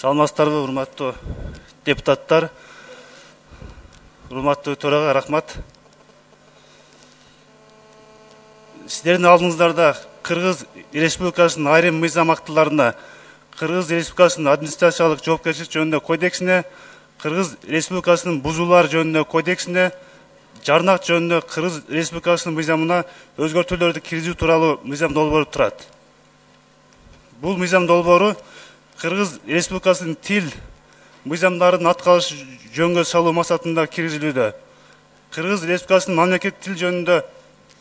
Саламатсыздарбы, урматтуу депутаттар, урматтуу төрага рахмат. Сиздердин алдыңыздарда Кыргыз Республикасынын айрым мыйзам актыларына, Кыргыз Республикасынын администрациялык жоопкерчилик жөнүндө кодексине, Кыргыз Республикасынын бузуулар жөнүндө кодексине, жарнак жөнүндө Кыргыз Республикасынын мыйзамына өзгөртүүлөрдү киргизүү тууралуу мыйзам долбоору турат. Бул мыйзам долбоору Кыргыз Республикасынын тил мыйзамдарын аткарыш жөнгө салуу максатында киргизилүүдө. Кыргыз Республикасынын мамлекеттик тил жөнүндө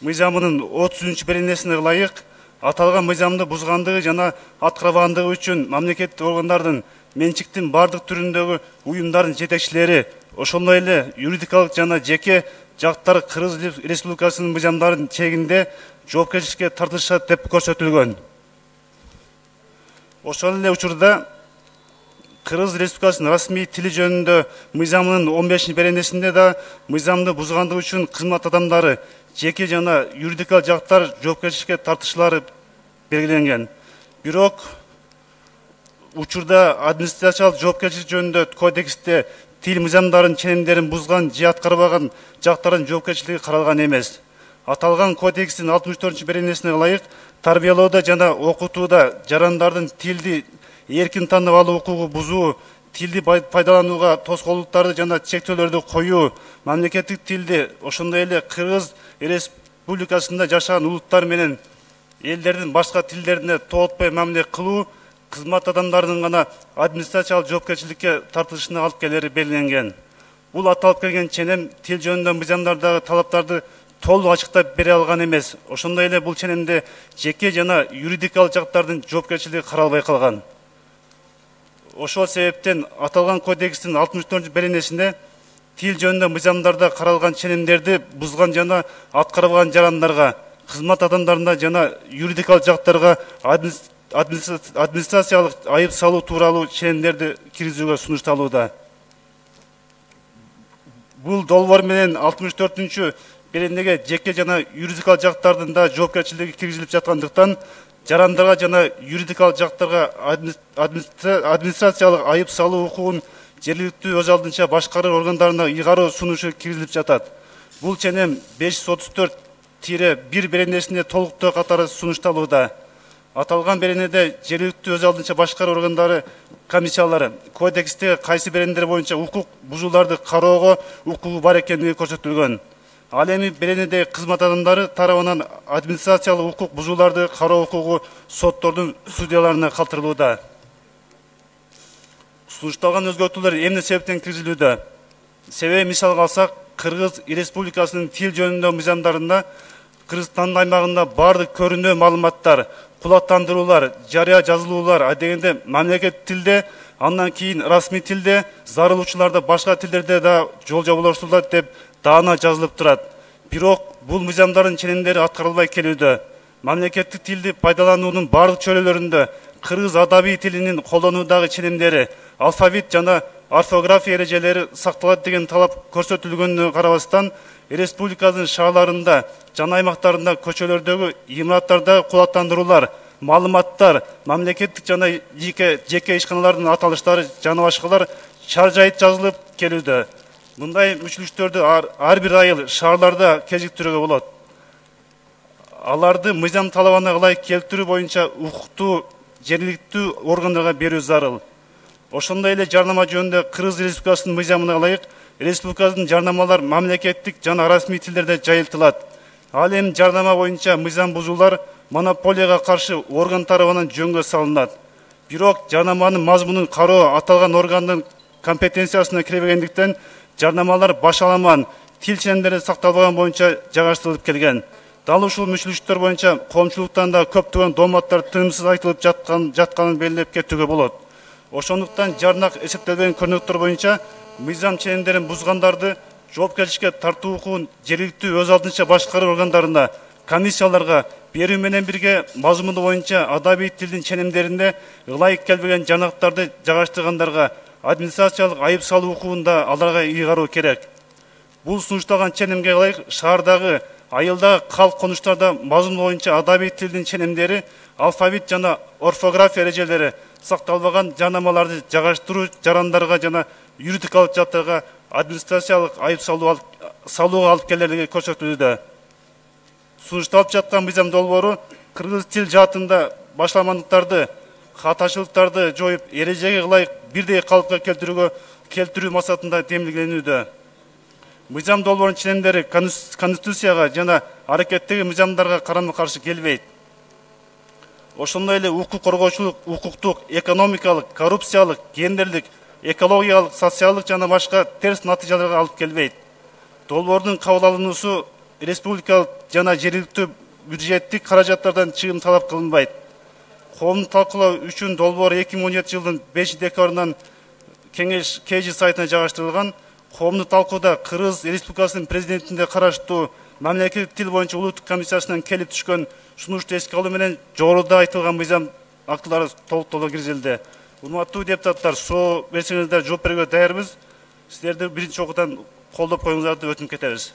мыйзамынын 30-беренесине ылайык аталган мыйзамды бузгандыгы жана аткарбагандыгы үчүн мамлекеттик органдардын менчиктин бардык түрүндөгү уюмдардын жетекчилери, ошондой эле юридикалык жана жеке жактар Кыргыз Республикасынын мыйзамдарын чегинде жоопкерчиликке тартылышат деп көрсөтүлгөн. Ошол эле учурда Кыргыз Республикасынын расмий тили жөнүндө мыйзамынын 15-беренесинде да мыйзамды бузгандыгы үчүн кызмат адамдары, жеке жана юридикалык жактар жоопкерчиликке тартылышлары белгиленген. Бирок учурда администрациялык жоопкерчилик жөнүндө кодексте тил мыйзамдарын ченемдерин бузган же аткарбаган жактардын жоопкерчилиги каралган эмес. Аталган кодекстин 64-беренесине ылайык тарбиялоодо жана окутууда жарандардын тилди эркин таанып алуу укугу бузуу, тилди пайдаланууга тоскоолдуктарды жана чектөөлөрдү коюу, мамлекеттик тилди, ошондой эле Кыргыз Республикасында жашаган улуттар менен элдердин башка тилдерине тоотпой мамиле кылуу кызмат адамдарынын гана администрациялык жоопкерчиликке тартылышына алып келери белгиленген. Бул аталып келген ченем тил жөнүндө мыйзамдардагы талаптарды толук ачыктап бере алган эмес. Ошондой эле бул ченемде жеке жана юридикалык жактардын жоопкерчилиги каралбай калган. Ошол себептен аталган кодекстин 64-беренесинде тил жөнүндө мыйзамдарда каралган ченемдерди бузган жана аткарбаган жарандарга, кызмат адамдарына жана юридикалык жактарга администрациялык айып салуу тууралуу ченемдерди киргизүүгө сунушталууда. Бул долбоор менен 64-беренеге жеке жана юридикалык жактардын да жоопкерчилиги киргизилип жаткандыктан жарандарга жана юридикалык жактарга администрациялык айып салуу укугун жергиликтүү өз алдынча башкаруу органдарына ыйгаруу сунушу киргизилип жатат. Бул ченем 534-1 беренесинде толуктоо катары сунушталууда. Аталган беренеде жергиликтүү өз алдынча башкаруу органдары комиссиялары кодексте кайсы беренелер боюнча укук бузууларды кароого укугу бар экендиги көрсөтүлгөн. Ал эми беренедеги кызмат адамдары тарабынан администрациялык укук бузууларды кароо укугу соттордун судьяларына калтырылууда. Сунушталган өзгөртүүлөр эмне себептен киргизилүүдө? Себеби мисалга алсак, Кыргыз Республикасынын тил жөнүндө мыйзамдарында Кыргызстандын аймагында бардык көрүнүү маалыматтар, кулаттандыруулар, жарыя жазылуулар адегенде мамлекеттик тилде, андан кийин расмий тилде, зарылуучуларда башка тилдерде да жол жабылыштырылат деп даана жазылып турат. Бирок бул мыйзамдардын ченемдери аткарылбай келүүдө. Мамлекеттик тилди пайдалануунун бардык чөйрөлөрүндө кыргыз адабий тилинин колдонуудагы ченемдери, алфавит жана орфография эрежелери сакталат деген талап көрсөтүлгөнүнө карабастан, республиканын шаарларында жана аймактарында көчөлөрдөгү имараттардагы кулаттандыруулар, маалыматтар, мамлекеттик жана жеке ишканалардын аталыштары жана башкалар чар-жайыт жазылып келүүдө. Мындай мүчүлүштөрдү ар бир айыл шаарларда кезиктирүүгө болот. Аларды мыйзам талабына ылайык келтирүү боюнча укуктуу жергиликтүү органдарга берүү зарыл. Ошондой эле жарнама жөнүндө Кыргыз Республикасынын мыйзамына ылайык республиканын жарнамалар мамлекеттик жана расмий тилдерде жайылтылат. Ал эми жарнама боюнча мыйзам бузуулар монополияга каршы орган тарабынан жөнгө салынат. Бирок жарнаманын мазмунун кароо аталган органдын компетенциясына кирбегендиктен жарнамалар башаламан, тил ченемдери сакталбаган боюнча жайгаштырылып келген. Дал ушул мүчүлүштөр боюнча коомчулуктан да көптөгөн дооматтар тыйымсыз айтылып жатканын белгилеп кетүүгө болот. Ошондуктан жарнак эсептелбеген көрүнөктөр боюнча мыйзам ченемдерин бузгандарды жоопкерчиликке тартуу укугун жергиликтүү өз алдынча башкаруу органдарына, комиссияларга берүү менен бирге мазмуну боюнча адабий тилдин ченемдеринде ылайык келбеген жарнактарды жайгаштыргандарга администрациялык айып салуу укугун да аларга ыйгаруу керек. Бул сунушталган ченемге ылайык шаардагы Айылдагы калк конуштарда мазмун боюнча адабий тилдин ченемдери, алфавит жана орфография эрежелери сакталбаган жарнамаларды жайгаштыруу жарандарга жана юридикалык жаттарга администрациялык айып салууга алып келерлиги көрсөтүлүүдө. Сунушталып жаткан мыйзам долбоору кыргыз тил жаатында башламандыктарды, катачылыктарды жоюп, эрежеге ылайык бирдей калыпка келтирүү максатында демилгеленүүдө. Мыйзам долбоорунун ченемдери конституцияга жана аракеттеги мыйзамдарга карама-каршы келбейт. Ошондой эле укук коргоочулук, укуктук, экономикалык, коррупциялык, гендерлик, экологиялык, социалдык жана башка терс натыйжаларга алып келбейт. Долбоордун кабыл алынуусу республикалык жана жергиликтүү бюджеттик каражаттардан чыгым талап кылынбайт. Коомдук талкуулоо үчүн долбоор 2017 жылдын 5 декабрынан Кеңеш КЖ сайтына жайгаштырылган. Коомдук талкууда Кыргыз Республикасынын президентинде караштуу мамлекеттик тил боюнча улуттук комиссиясынан келип түшкөн сунушту эске алуу менен жогоруда айтылган мыйзам актылары толуктоого киргизилди. Урматтуу депутаттар, суроо берсеңиздер жооп берүүгө даярбыз. Сиздерди биринчи окуудан колдоп коюңуздарды өтүнүп кетебиз.